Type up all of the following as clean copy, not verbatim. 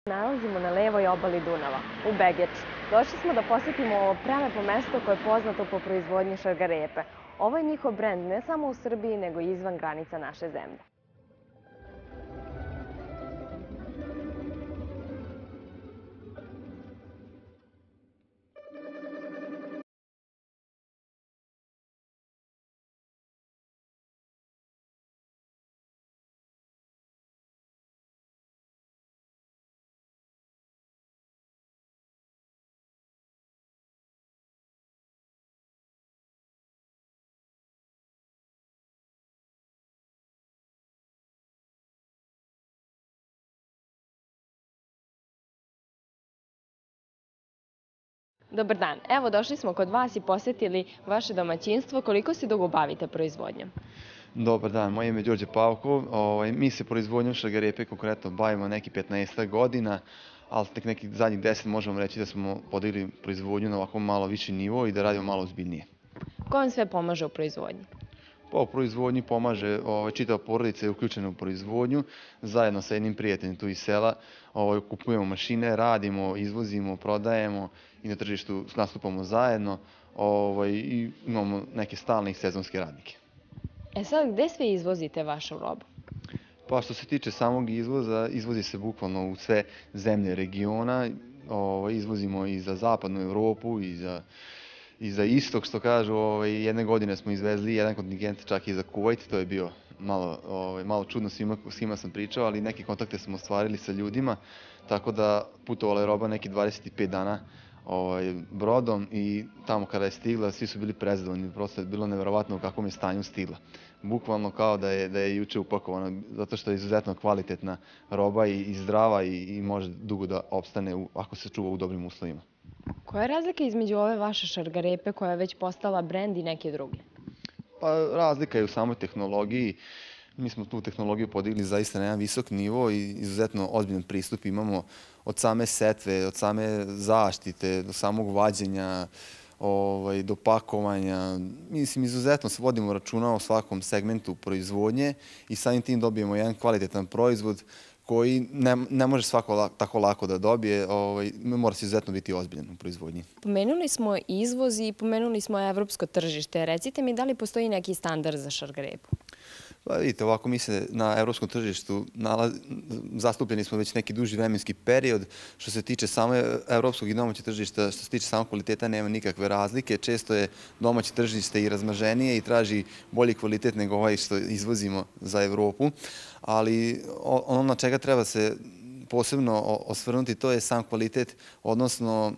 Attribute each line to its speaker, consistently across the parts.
Speaker 1: Nalazimo na levoj obali Dunava, u Begeču. Došli smo da posetimo ovo prelepo mesto koje je poznato po proizvodnji šargarepe. Ovo je njihov brend ne samo u Srbiji, nego i izvan granica naše zemlje. Dobar dan. Evo, došli smo kod vas i posetili vaše domaćinstvo. Koliko se dugo bavite proizvodnjom?
Speaker 2: Dobar dan, moje ime je Đorđe Pavkov. Mi se proizvodnjom šargarepe konkretno bavimo neki 15 godina, ali tek nekih zadnjih 10 možemo reći da smo podigli proizvodnju na ovako malo viši nivo i da radimo malo ozbiljnije.
Speaker 1: Ko vam sve pomaže u proizvodnji?
Speaker 2: Pa u proizvodnji pomaže, čitava porodica je uključena u proizvodnju, zajedno sa jednim prijateljem tu iz sela. Kupujemo mašine, radimo, izvozimo, prodajemo i na tržištu nastupamo zajedno i imamo neke stalne i sezonske radnike.
Speaker 1: E sad, gde sve izvozite vašu robu?
Speaker 2: Pa što se tiče samog izvoza, izvozi se bukvalno u sve zemlje regiona. Izvozimo i za zapadnu Evropu i za istok, što kažu. Jedne godine smo izvezli jedan kontingent čak i za Kuvajt, to je bio malo čudno s kima sam pričao, ali neke kontakte smo ostvarili sa ljudima, tako da putovala je roba neki 25 dana brodom i tamo kada je stigla svi su bili prezadovoljni, prosto je bilo neverovatno u kakvom je stanju stigla. Bukvalno kao da je juče upakovana, zato što je izuzetno kvalitetna roba i zdrava i može dugo da opstane ako se čuva u dobrim uslovima.
Speaker 1: Koja je razlika između ove vaše šargarepe koja je već postala brend i neke druge?
Speaker 2: Pa razlika je u samoj tehnologiji. Mi smo tu tehnologiju podigli zaista na jedan visok nivo i izuzetno ozbiljan pristup imamo od same setve, od same zaštite, do samog vađenja, do pakovanja. Mislim, izuzetno se vodimo računa o svakom segmentu proizvodnje i samim tim dobijemo jedan kvalitetan proizvod koji ne može svako tako lako da dobije, mora se izuzetno biti ozbiljan u proizvodnji.
Speaker 1: Pomenuli smo izvoz i pomenuli smo evropsko tržište. Recite mi, da li postoji neki standard za šargarepu?
Speaker 2: Pa vidite, ovako mi se na evropskom tržištu zastupljeni smo već neki duži vremenski period. Što se tiče samo evropskog i domaćeg tržišta, što se tiče samog kvaliteta, nema nikakve razlike. Često je domaće tržište i razmaženije i traži bolji kvalitet nego ovaj što izvozimo za Evropu. Ali ono na čega treba se posebno osvrnuti, to je sam kvalitet, odnosno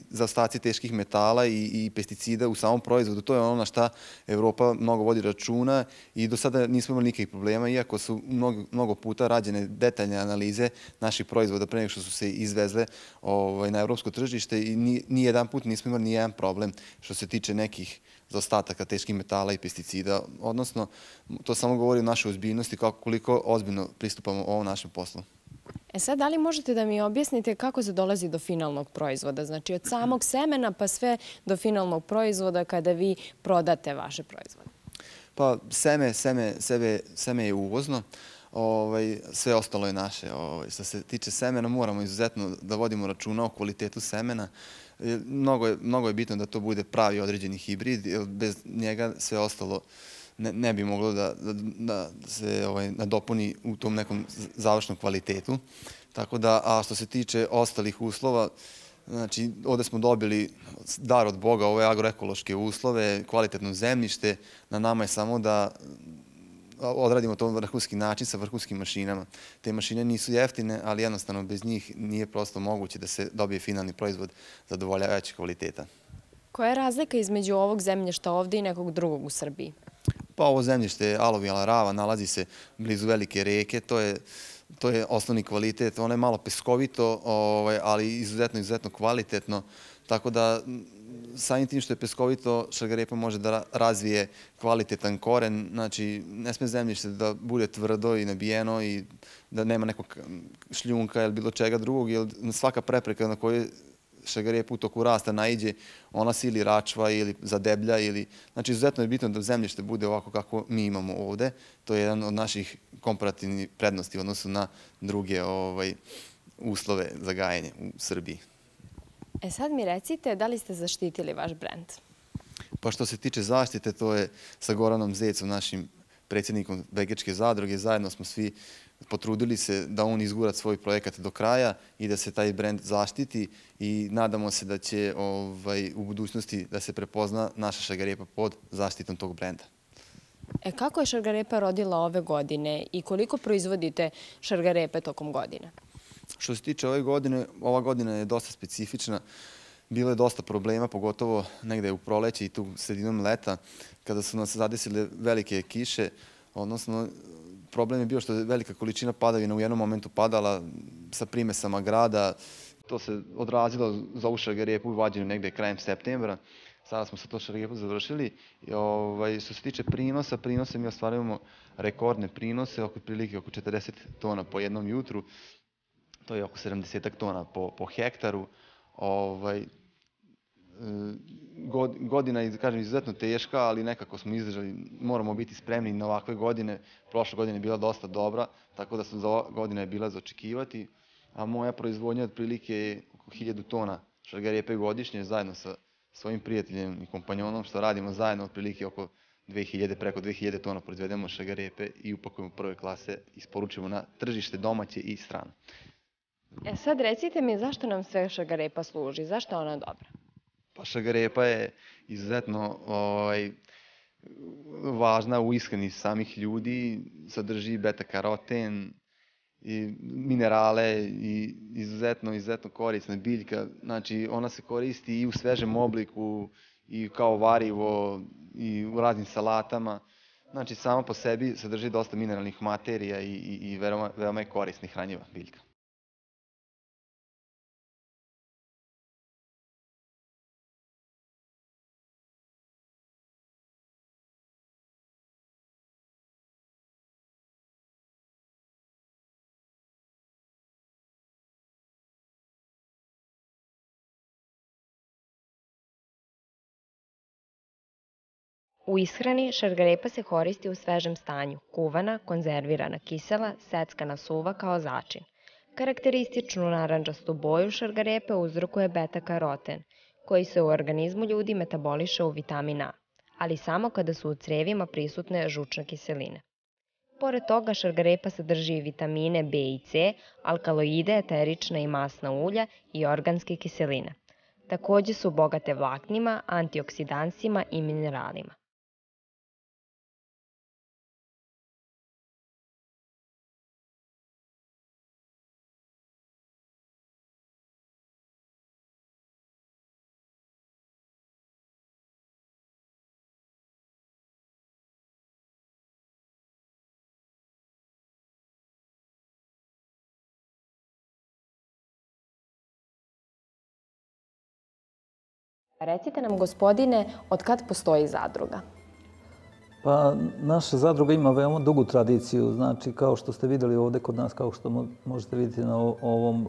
Speaker 2: zaostaci teških metala i pesticida u samom proizvodu. To je ono na šta Evropa mnogo vodi računa i do sada nismo imali nikakvih problema, iako su mnogo puta rađene detaljne analize naših proizvoda pre nego što su se izvezle na evropsko tržište i ni jedan put nismo imali ni jedan problem što se tiče nekih zaostataka teških metala i pesticida. Odnosno, to samo govori o našoj ozbiljnosti, koliko ozbiljno pristupamo ovom našem poslu.
Speaker 1: E sad, da li možete da mi objasnite kako se dolazi do finalnog proizvoda? Znači, od samog semena pa sve do finalnog proizvoda kada vi prodate vaše proizvode?
Speaker 2: Pa seme je uvozno, sve ostalo je naše. Što se tiče semena, moramo izuzetno da vodimo računa o kvalitetu semena. Mnogo je bitno da to bude pravi određeni hibrid, jer bez njega sve ostalo ne bi moglo da se nadopuni u tom nekom završnom kvalitetu. Tako da, a što se tiče ostalih uslova, znači ovde smo dobili dar od Boga, ove agroekološke uslove, kvalitetno zemljište, na nama je samo da odradimo to na vrhunski način sa vrhunskim mašinama. Te mašine nisu jeftine, ali jednostavno bez njih nije prosto moguće da se dobije finalni proizvod zadovoljavajućeg kvaliteta.
Speaker 1: Koja je razlika između ovog zemljišta ovde i nekog drugog u Srbiji?
Speaker 2: Pa ovo zemljište je aluvijalna rava, nalazi se blizu velike reke, to je osnovni kvalitet. Ono je malo peskovito, ali izuzetno kvalitetno, tako da samim tim što je peskovito, šargarepa može da razvije kvalitetan koren, znači ne sme zemljište da bude tvrdo i nabijeno i da nema nekog šljunka ili bilo čega drugog, jer svaka prepreka na kojoj šargarepa u toku rasta naiđe, ona se ili račva ili zadeblja, znači izuzetno je bitno da zemljište bude ovako kako mi imamo ovde. To je jedan od naših komparativnih prednosti u odnosu na druge uslove za gajenje u Srbiji.
Speaker 1: Sad mi recite, da li ste zaštitili vaš brend?
Speaker 2: Pa što se tiče zaštite, to je sa Goranom Zecom, našim predsjednikom Begečke zadruge. Zajedno smo svi potrudili se da on izgura svoj projekat do kraja i da se taj brend zaštiti i nadamo se da će u budućnosti da se prepozna naša šargarepa pod zaštitom tog brenda.
Speaker 1: Kako je šargarepa rodila ove godine i koliko proizvodite šargarepe tokom godine?
Speaker 2: Što se tiče ove godine, ova godina je dosta specifična. Bilo je dosta problema, pogotovo negde u proleće i tu sredinom leta, kada su nas zadesile velike kiše, odnosno problem je bio što je velika količina padavina u jednom momentu padala sa primesama grada. To se odrazilo za ovu šargarepu u vađenju negde krajem septembra. Sada smo sa to šargarepu završili. Što se tiče prinose mi ostvarujemo rekordne prinose, prilike oko 40 tona po jednom jutru. To je oko 70 tona po hektaru. Godina je, kažem, izuzetno teška, ali nekako smo izdržali. Moramo biti spremni na ovakve godine. Prošla godina je bila dosta dobra, tako da za godina je bila za očekivati. A moja proizvodnja otprilike je oko 1000 tona šargarepe godišnje, zajedno sa svojim prijateljem i kompanjonom, što radimo zajedno otprilike oko preko 2000 tona proizvedemo šargarepe i upakujemo prve klase, isporučujemo na tržište domaće i strano.
Speaker 1: Sad recite mi zašto nam sve šargarepa služi, zašto je ona dobra?
Speaker 2: Pa šargarepa je izuzetno važna u ishrani samih ljudi, sadrži beta-karoten, minerale i izuzetno korisna biljka. Znači, ona se koristi i u svežem obliku, i kao varivo, i u raznim salatama. Znači, sama po sebi sadrži dosta mineralnih materija i veoma je korisna i hranjiva biljka.
Speaker 1: U ishrani šargarepa se koristi u svežem stanju, kuvana, konzervirana, kisela, seckana suva kao začin. Karakterističnu narandžastu boju šargarepe uzrokuje beta-karoten, koji se u organizmu ljudi metaboliše u vitamin A, ali samo kada su u crevima prisutne žučne kiseline. Pored toga, šargarepa sadrži vitamine B i C, alkaloide, eterična i masna ulja i organske kiseline. Takođe su bogate vlaknima, antioksidansima i mineralima. Recite nam, gospodine, od kad postoji zadruga?
Speaker 3: Pa naša zadruga ima veoma dugu tradiciju. Znači, kao što ste vidjeli ovdje kod nas, kao što možete vidjeti na ovom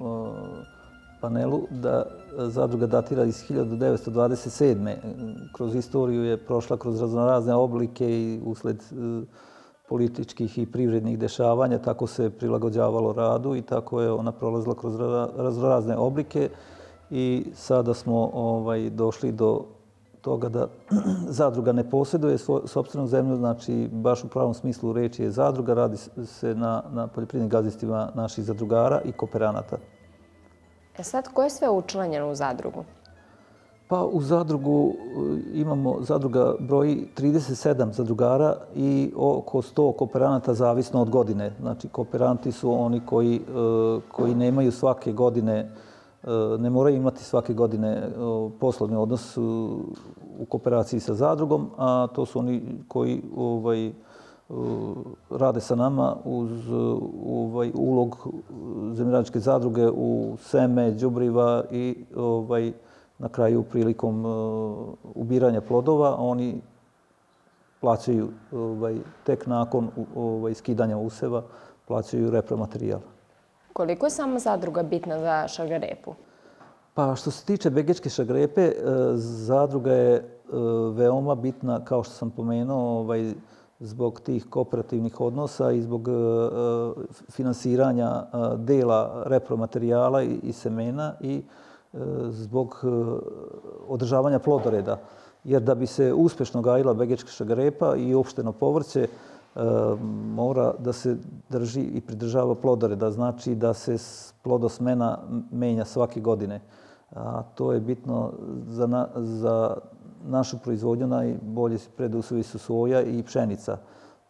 Speaker 3: panelu, da zadruga datira iz 1927. Kroz istoriju je prošla kroz raznorazne oblike i usled političkih i privrednih dešavanja, tako se prilagođavalo radu i tako je ona prolazila kroz raznorazne oblike. I sada smo došli do toga da zadruga ne posjeduje sopstvenu zemlju, znači baš u pravom smislu reči je zadruga, radi se na poljoprivrednim gazdinstvima naših zadrugara i kooperanata.
Speaker 1: Sad, ko je sve učlanjeno u zadrugu?
Speaker 3: Pa u zadrugu zadruga broji 37 zadrugara i oko 100 kooperanata zavisno od godine. Znači, kooperanti su oni koji nemaju svake godine, ne moraju imati svake godine poslovni odnos u kooperaciji sa zadrugom, a to su oni koji rade sa nama uz ulog zemljoradničke zadruge u seme, đubriva i na kraju prilikom ubiranja plodova oni plaćaju tek nakon skidanja useva, plaćaju repromaterijal.
Speaker 1: Koliko je sama zadruga bitna za šargarepu?
Speaker 3: Pa što se tiče begečke šargarepe, zadruga je veoma bitna, kao što sam pomenuo, zbog tih kooperativnih odnosa i zbog finansiranja dela repromaterijala i semena i zbog održavanja plodoreda. Jer da bi se uspješno gajila begečka šargarepa i uopšteno povrće, mora da se drži i pridržava plodoreda. Znači da se plodosmena menja svake godine. A to je bitno za našu proizvodnju. Najbolji preduslovi su soja i pšenica.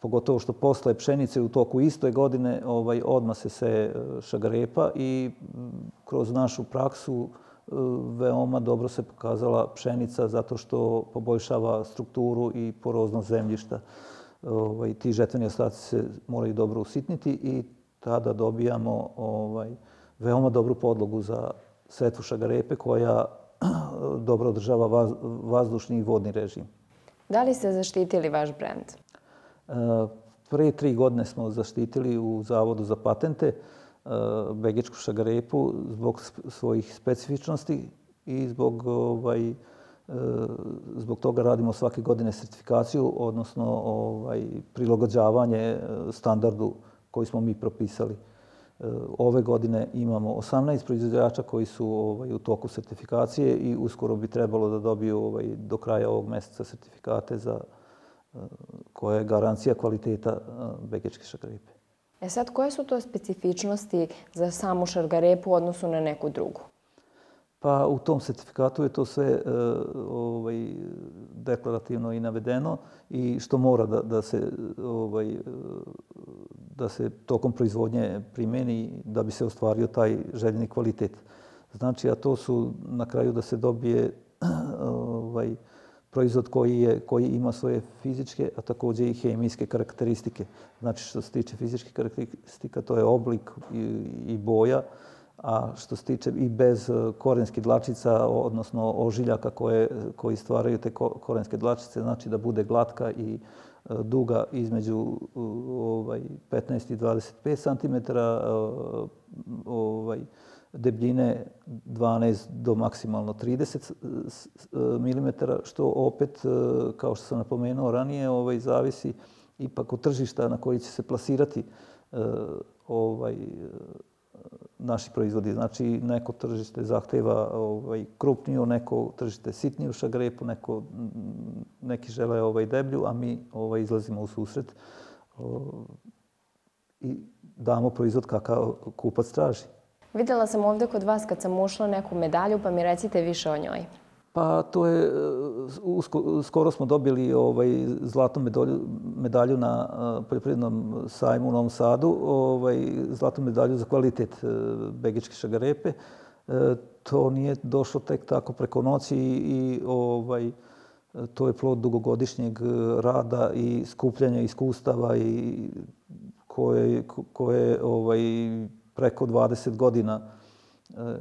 Speaker 3: Pogotovo što posle pšenice u toku iste godine odmah se seje šargarepa i kroz našu praksu veoma dobro se pokazala pšenica zato što poboljšava strukturu i poroznost zemljišta. Ti žetveni ostaci se moraju dobro usitniti i tada dobijamo veoma dobru podlogu za setvu šargarepe koja dobro održava vazdušni i vodni režim.
Speaker 1: Da li ste zaštitili vaš brend?
Speaker 3: Pre 3 godine smo zaštitili u Zavodu za patente begečku šargarepu zbog svojih specifičnosti i zbog toga radimo svake godine sertifikaciju, odnosno prilagođavanje standardu koji smo mi propisali. Ove godine imamo 18 proizvođača koji su u toku sertifikacije i uskoro bi trebalo da dobiju do kraja ovog meseca sertifikate za koja je garancija kvaliteta begečke šargarepe.
Speaker 1: Sad, koje su to specifičnosti za samu šargarepu u odnosu na neku drugu?
Speaker 3: Pa u tom sertifikatu je to sve deklarativno i navedeno i što mora da se tokom proizvodnje primeni da bi se ostvario taj željeni kvalitet. Znači, a to su na kraju da se dobije proizvod koji ima svoje fizičke, a također i hemijske karakteristike. Znači, što se tiče fizičkih karakteristika, to je oblik i boja, a što se tiče i bez korenskih dlačica, odnosno ožiljaka koji stvaraju te korenske dlačice, znači da bude glatka i duga između 15 i 25 cm, debljine 12 do maksimalno 30 mm, što opet, kao što sam napomenuo ranije, zavisi ipak od tržišta na koji će se plasirati naši proizvodi. Znači, neko tržište zahteva krupniju, neko tržište sitniju šargarepu, neki žele deblju, a mi izlazimo u susret i damo proizvod kakav kupac traži.
Speaker 1: Vidjela sam ovdje kod vas kad sam ušla neku medalju, pa mi recite više o njoj.
Speaker 3: Pa to je, skoro smo dobili zlatnu medalju na poljoprivrednom sajmu u Novom Sadu, zlatnu medalju za kvalitet begečke šargarepe. To nije došlo tek tako preko noći i to je plod dugogodišnjeg rada i skupljanja iskustava i koje preko 20 godina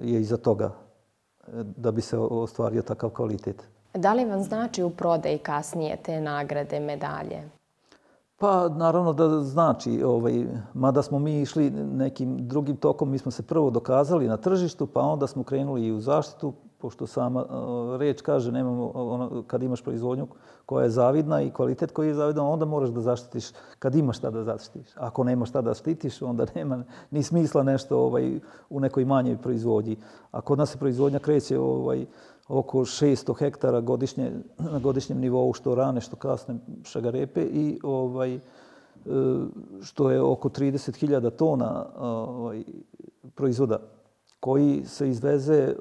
Speaker 3: je iza toga da bi se ostvario takav kvalitet.
Speaker 1: Da li vam znači u prodaji kasnije te nagrade, medalje?
Speaker 3: Pa naravno da znači, mada smo mi išli nekim drugim tokom, mi smo se prvo dokazali na tržištu, pa onda smo krenuli i u zaštitu, pošto sama reč kaže, kad imaš proizvodnju koja je zavidna i kvalitet koji je zavidan, onda moraš da zaštitiš kad imaš šta da zaštitiš. Ako nemaš šta da štitiš, onda nema ni smisla nešto u nekoj manjoj proizvodnji. A kod nas se proizvodnja kreće oko 600 hektara na godišnjem nivou, što rane, što kasne šargarepe i što je oko 30.000 tona proizvoda koji se izveze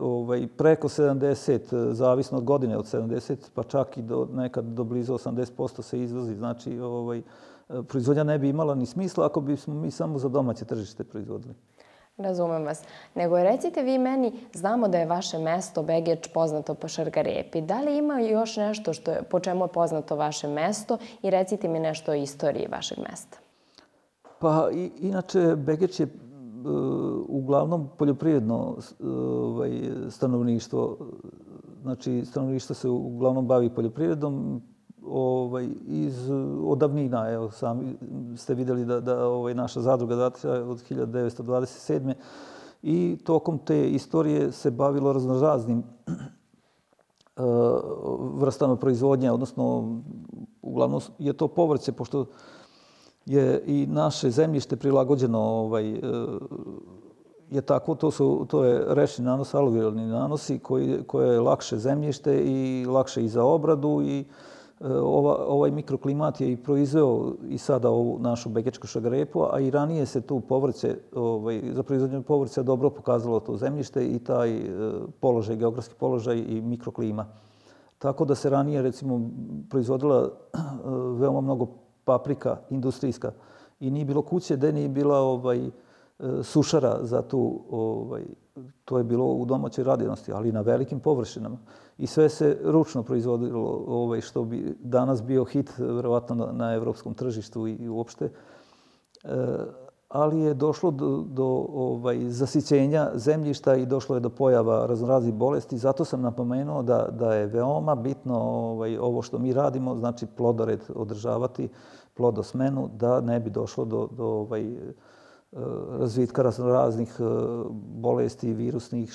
Speaker 3: preko 70, zavisno od godine, od 70, pa čak i nekad do blizu 80% se izvozi. Znači, proizvodnja ne bi imala ni smisla ako bismo mi samo za domaće tržište proizvodili.
Speaker 1: Razumem vas. Nego recite vi meni, znamo da je vaše mesto Begeč poznato po šargarepi. Da li ima još nešto po čemu je poznato vaše mesto i recite mi nešto o istoriji vašeg mesta?
Speaker 3: Pa inače Begeč je uglavnom poljoprivredno stanovništvo. Znači, stanovništvo se uglavnom bavi poljoprivredom od davnina. Evo, sami ste vidjeli da naša zadruga datira od 1927. I tokom te istorije se bavilo raznoraznim vrstama proizvodnje, odnosno uglavnom je to povrće, pošto je i naše zemljište prilagođeno je tako, to je rečni nanos, aluvijalni nanosi koje je lakše zemljište i lakše i za obradu i ovaj mikroklimat je i proizveo i sada ovu našu begečku šargarepu, a i ranije se tu povrće, za proizvodnju povrća dobro pokazalo to zemljište i taj položaj, geografski položaj i mikroklima. Tako da se ranije, recimo, proizvodila veoma mnogo paprika industrijska i nije bilo kuće gde nije bila sušara za tu, to je bilo u domaćoj radinosti, ali na velikim površinama. I sve se ručno proizvodilo, što bi danas bio hit, verovatno na evropskom tržištu i uopšte. Ali je došlo do zasićenja zemljišta i došlo je do pojava raznoraznih bolesti. Zato sam napomenuo da je veoma bitno ovo što mi radimo, znači plodored održavati, plodosmenu, da ne bi došlo do razvitka raznih bolesti virusnih,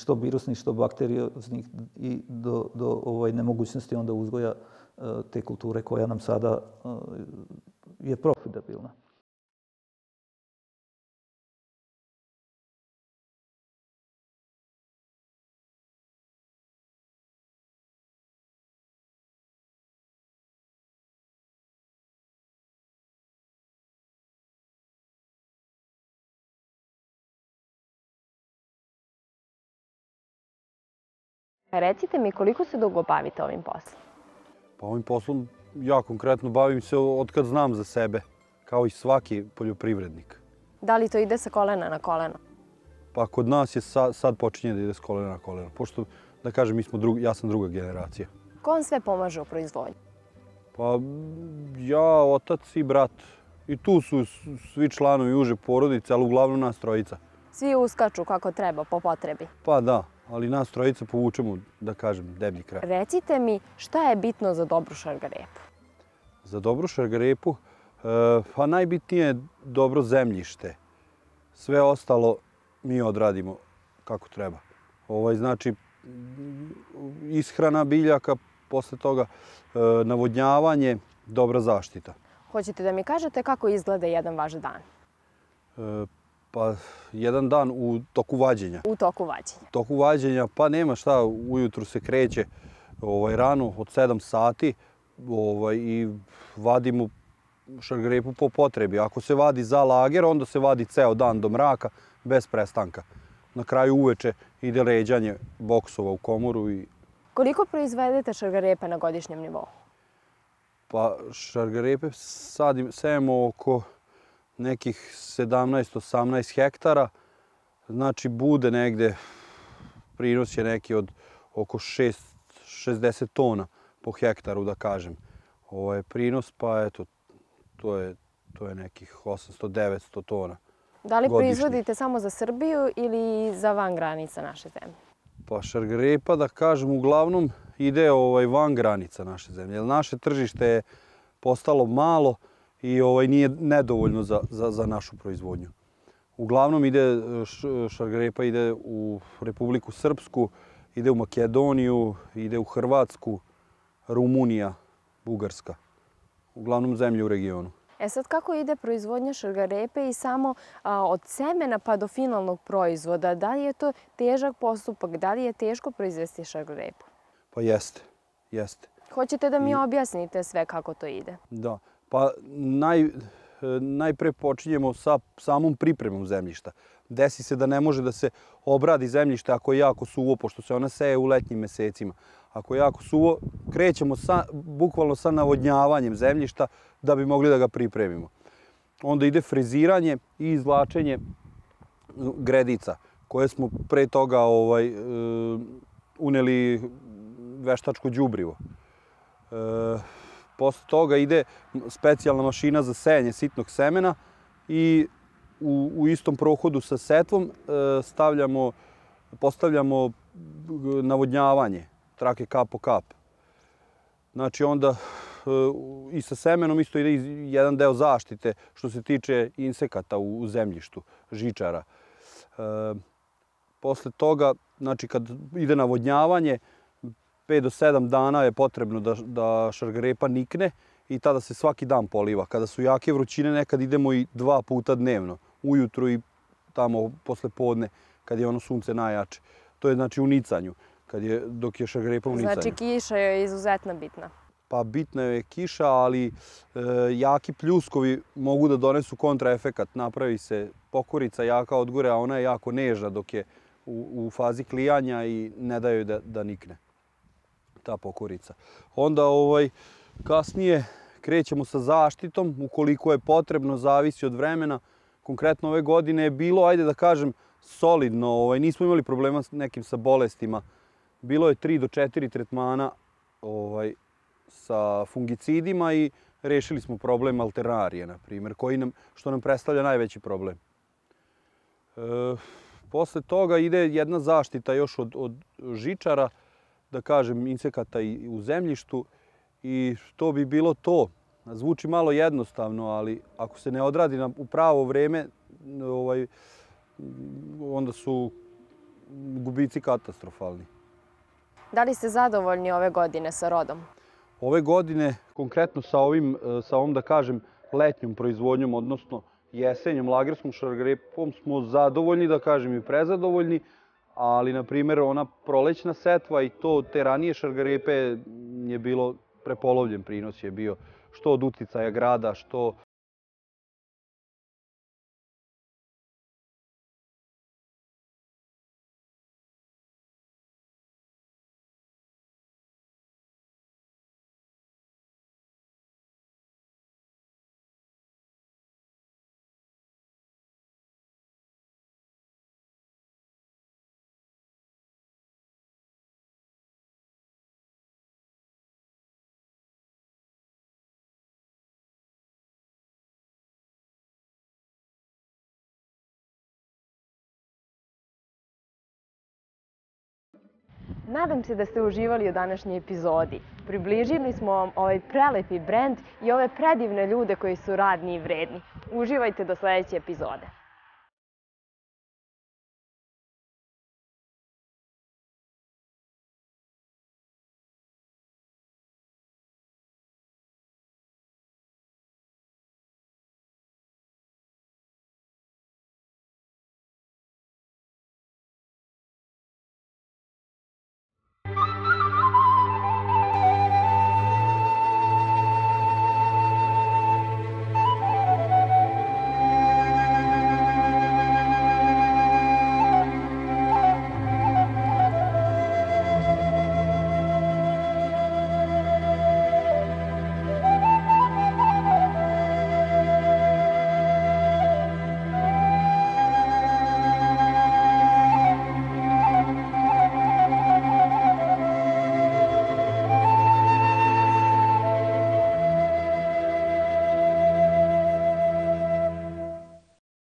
Speaker 3: što bakterioznih i do nemogućnosti onda uzgoja te kulture koja nam sada je profitabilna.
Speaker 1: Recite mi, koliko se dugo bavite ovim poslom?
Speaker 4: Pa ovim poslom ja konkretno bavim se od kad znam za sebe, kao i svaki poljoprivrednik.
Speaker 1: Da li to ide sa kolena na koleno?
Speaker 4: Pa kod nas je sad počinje da ide s kolena na koleno, pošto, da kažem, ja sam druga generacija.
Speaker 1: Ko vam sve pomaže u proizvodnji?
Speaker 4: Pa ja, otac i brat. I tu su svi članovi uže porodice, ali uglavnom nas trojica.
Speaker 1: Svi uskaču kako treba, po potrebi?
Speaker 4: Pa da, ali nas trojica povučemo, da kažem, deblji kraj.
Speaker 1: Recite mi, šta je bitno za dobru šargarepu?
Speaker 4: Za dobru šargarepu? Pa najbitnije je dobro zemljište. Sve ostalo mi odradimo kako treba. Znači, ishrana biljaka, posle toga navodnjavanje, dobra zaštita.
Speaker 1: Hoćete da mi kažete kako izgleda jedan vaš dan?
Speaker 4: Pa jedan dan u toku vađenja.
Speaker 1: U toku vađenja?
Speaker 4: U toku vađenja, pa nema šta, ujutru se kreće rano od 7 sati i vadimo šargarepu po potrebi. Ako se vadi za lager, onda se vadi ceo dan do mraka, bez prestanka. Na kraju uveče ide ređanje boksova u komoru.
Speaker 1: Koliko proizvedete šargarepe na godišnjem nivou?
Speaker 4: Pa šargarepe sejemo oko nekih 17-18 hektara. Znači bude negde, prinos je neki od oko 60 tona po hektaru, da kažem. Prinos, pa eto, to je nekih 800-900 tona.
Speaker 1: Da li proizvodite samo za Srbiju ili za van granica naše zemlje?
Speaker 4: Pa šargarepa, da kažem, uglavnom ide van granica naše zemlje. Jer naše tržište je postalo malo i nije nedovoljno za našu proizvodnju. Uglavnom šargarepa ide u Republiku Srpsku, ide u Makedoniju, ide u Hrvatsku, Rumunija, Bugarska. Uglavnom zemlje u regionu.
Speaker 1: Sad kako ide proizvodnja šargarepe i samo od semena pa do finalnog proizvoda? Da li je to težak postupak? Da li je teško proizvesti šargarepu?
Speaker 4: Pa jeste, jeste.
Speaker 1: Hoćete da mi objasnite sve kako to ide?
Speaker 4: Da, pa najpre počinjemo sa samom pripremom zemljišta. Desi se da ne može da se obradi zemljište ako je jako suvo, pošto se ona seje u letnjim mesecima. Ako je jako suvo, krećemo bukvalno sa navodnjavanjem zemljišta da bi mogli da ga pripremimo. Onda ide freziranje i izvlačenje gredica, koje smo pre toga uneli veštačko đubrivo. Posle toga ide specijalna mašina za sejanje sitnog semena i u istom prohodu sa setvom postavljamo navodnjavanje, trake kap po kap. Znači onda i sa semenom isto ide jedan deo zaštite što se tiče insekata u zemljištu, žičara. Posle toga, znači kad ide navodnjavanje, 5 do 7 dana je potrebno da šargarepa nikne i tada se svaki dan poliva. Kada su jake vrućine nekad idemo i 2 puta dnevno, ujutru i tamo posle podne kad je ono sunce najjače. To je znači u nicanju, dok je šargarepa u nicanju.
Speaker 1: Znači kiša je izuzetno bitna.
Speaker 4: Pa bitna je kiša, ali jaki pljuskovi mogu da donesu kontraefekat. Napravi se pokurica jaka od gore, a ona je jako nežna dok je u fazi klijanja i ne da joj da nikne ta pokurica. Onda kasnije krećemo sa zaštitom, ukoliko je potrebno, zavisi od vremena. Konkretno ove godine je bilo, ajde da kažem, solidno. Nismo imali problema nekim sa bolestima. Bilo je 3 do 4 tretmana sa fungicidima i rešili smo problem alternarije, na primjer, što nam predstavlja najveći problem. Posle toga ide jedna zaštita još od žičara, da kažem, insekata i u zemljištu i to bi bilo to. Zvuči malo jednostavno, ali ako se ne odradi u pravo vreme, onda su gubici katastrofalni.
Speaker 1: Da li ste zadovoljni ove godine sa rodom?
Speaker 4: Ove godine, konkretno sa ovom, da kažem, letnjom proizvodnjom, odnosno jesenjom lagerskom šargarepom, smo zadovoljni, da kažem, i prezadovoljni, ali, na primjer, ona prolećna setva i te ranije šargarepe je bilo prepolovljen prinos je bio, što od uticaja grada, što
Speaker 1: Nadam se da ste uživali u današnjoj epizodi. Približili smo vam ovaj prelepi brend i ove predivne ljude koji su radni i vredni. Uživajte do sledeće epizode.